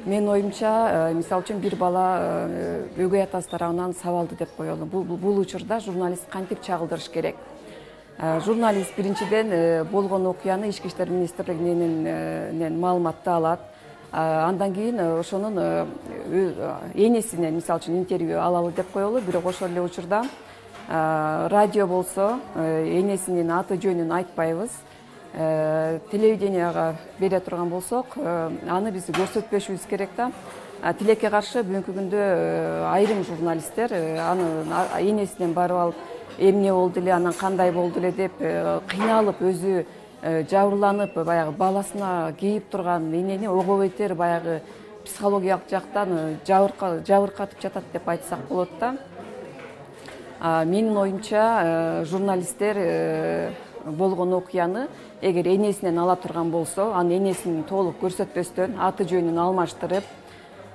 Менин оюмча, мисалы үчүн бир бала өгөй атасы тарабынан сабалды деп коелу. Бул учурда журналист кантип чагылдырыш керек? Журналист биринчиден болгон окуяны Ички иштер министрлигинен маалыматты алат. Андан кийин ошонун энесинен мисалы үчүн интервью алалы деп коелу. Бирок ошол эле учурда радио болсо энесинин аты жөнүн айтпайбыз. Телевиденияга бере турган болсок, аны биз көрсөтпөшүбүз керек да. Тилекке каршы бүгүнкү күндө айрым журналисттер аны энесинен барып алып, эмне болду эле, анан кандай болду эле деп кыйналып, өзү жабырланып, баягы баласына кейип турган энени ого бетер баягы психологиялык жактан жабыркатып жатат деп айтсак болот да. Менин оюмча, журналисттер болгон окуяны эгер энесинен ала турган болсо, аны энесин толук көрсөтпөстөн, аты жөнүн алмаштырып,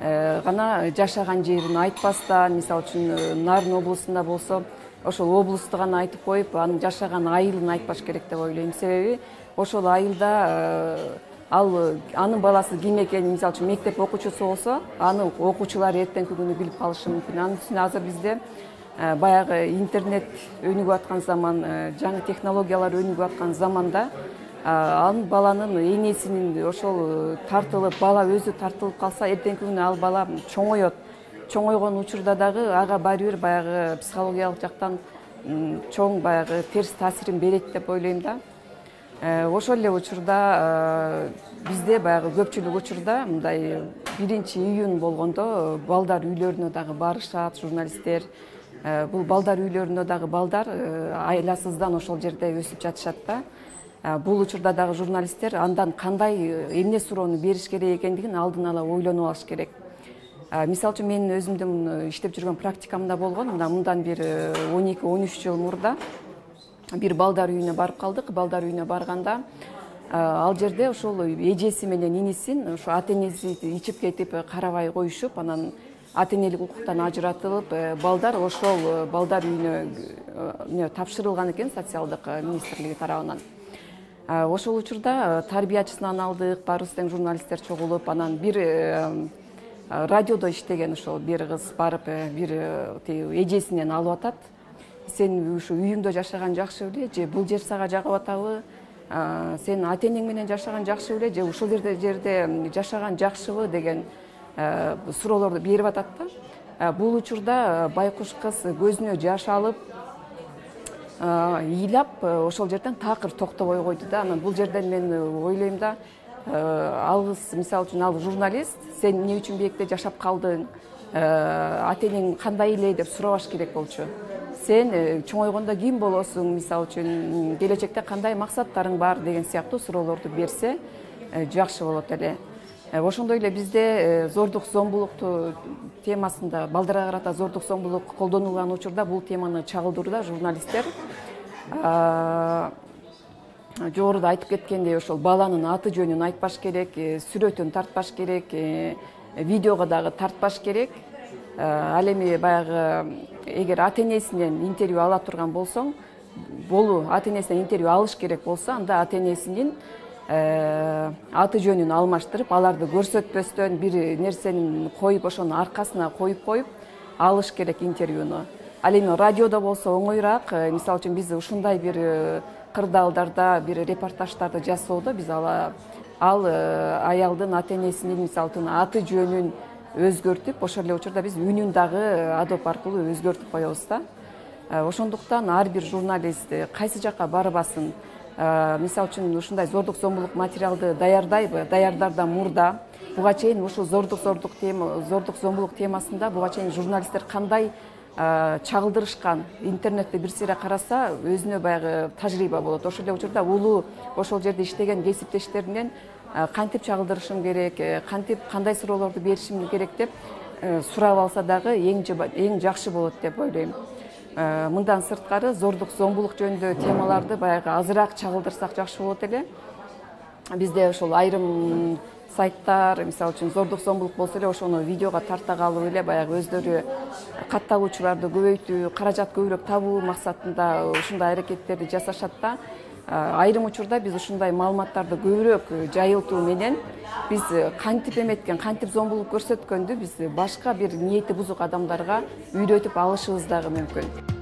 гана жашаган жерин айтпастан, мисалы үчүн Нарын облусунда болсо, ошол облусту гана айтып коюп, анын жашаган айылын айтпаш керек деп ойлойм. Себеби ошол айылда анын баласы ким экенин, мисалы үчүн мектеп окуучусу болсо, аны окуучулар эртеңки күнү билип калышы мүмкүн. Анын үстүнө азыр бизде баягы интернет өнүгүп аткан заман, жаңы технологиялар өнүгүп аткан заманда, анын баланын энесинин ошол тартылып, бала өзү тартылып калса, эртеңки күнү ал бала чоңоет. Чоңойгон учурда дагы ага баары бир баягы психологиялык жактан чоң баягы терс таасирин берет деп ойлойм да. Ошол эле учурда бизде баягы көпчүлүк учурда мындай 1-июнь болгондо балдар үйлөрүнө дагы барышат журналисттер. Бул балдар үйлөрүндө дагы балдар айласыздан ошол жерде өсүп жатышат да. Бул учурда дагы журналисттер андан кандай эмне суроону бериш керек экендигин алдын ала ойлонуп алыш керек. Мисалы үчүн мен өзүмдүн иштеп жүргөн практикамда болгон, мындан бир 12-13 жыл мурда бир балдар үйүнө барып калдык. Балдар үйүнө барганда ал жерде ошол эжеси менен инисин, ошо ата энеси ичип кетип карабай коюшуп, анан ата энелик укуктан ажыратылып, балдар ошол балдар үйүнө тапшырылган экен социалдык министрлиги тарабынан. Ошол учурда тарбиячысынан алдык, баарыбыз тең журналисттер чогулуп, анан бир радиодо иштеген ошол бир кыз барып, бир эжесинен алып атат. Сен ушу үйүңдө жашаган жакшы беле, же бул жер сага жагып атабы? Сен ата энең менен жашаган жакшы беле, же ушул жерде жашаган жакшыбы деген суроолорду берип атат да. Бул учурда байкуш кыз көзүнө жаш алып, ыйлап, ошол жерден такыр токтобой койду да. Анан бул жерден мен ойлойм да, ал кыз, мисалы үчүн ал журналист, сен эмне үчүн биекте жашап калдың, ата энең кандай эле деп сурабаш керек болчу. Сен чоңойгондо ким болосуң, мисалы үчүн келечекте кандай максаттарың бар деген сыяктуу суроолорду берсе жакшы болот эле. Ошондой эле бизде зордук зомбулукту темасында, балдарга карата зордук зомбулук колдонулган учурда бул теманы чагылдырууда журналисттер жогоруда айтып кеткендей, ошол баланын аты жөнүн айтпаш керек, сүрөтүн тартпаш керек, видеого дагы тартпаш керек. Ал эми баягы эгер ата энесинен интервью ала турган болсоң, ата энесинен интервью алыш керек болсо, анда ата энесинин аты жөнүн алмаштырып, аларды көрсөтпөстөн бир нерсенин коюп, ошонун аркасына коюп алыш керек интервьюну. Ал эми радиодо болсо оңоюраак. Мисалы үчүн биз ушундай бир кырдаалдарда, бир репортаждарды жасоодо биз ал аялдын ата энесинин мисалы үчүн аты жөнүн өзгөртүп, ошол эле учурда биз үнүн дагы адоп аркылуу өзгөртүп коебуз да. Ошондуктан ар бир журналист кайсы жакка барбасын, мисалы үчүн ушундай зордук зомбулук материалды даярдардан мурда буга чейин ушул зордук зомбулук темасында буга чейин журналисттер кандай чагылдырышкан, интернетте бир сыйра караса өзүнө баягы тажрыйба болот. Ошол эле учурда улуу ошол жерде иштеген кесиптештеринен кантип чагылдырышым керек, кандай суроолорду беришим керек деп сурап алса дагы эң жакшы болот деп ойлойм. Мындан сырткары зордук зомбулук жөнүндө темаларды баягы азыраак чагылдырсак жакшы болот эле. Бизде ошол айрым сайттар, мисалы үчүн зордук зомбулук болсо эле ошону видеого тарта калып эле баягы өздөрү катталуучуларды көбөйтүү, каражат көбүрөөк табуу максатында ушундай аракеттерди жасашат да. Айрым учурда биз ушундай маалыматтарды көбүрөөк жайылтуу менен биз кантип эметкен, кантип зомбулук көрсөткөндү биз башка бир ниети бузук адамдарга үйрөтүп алышыбыз дагы мүмкүн.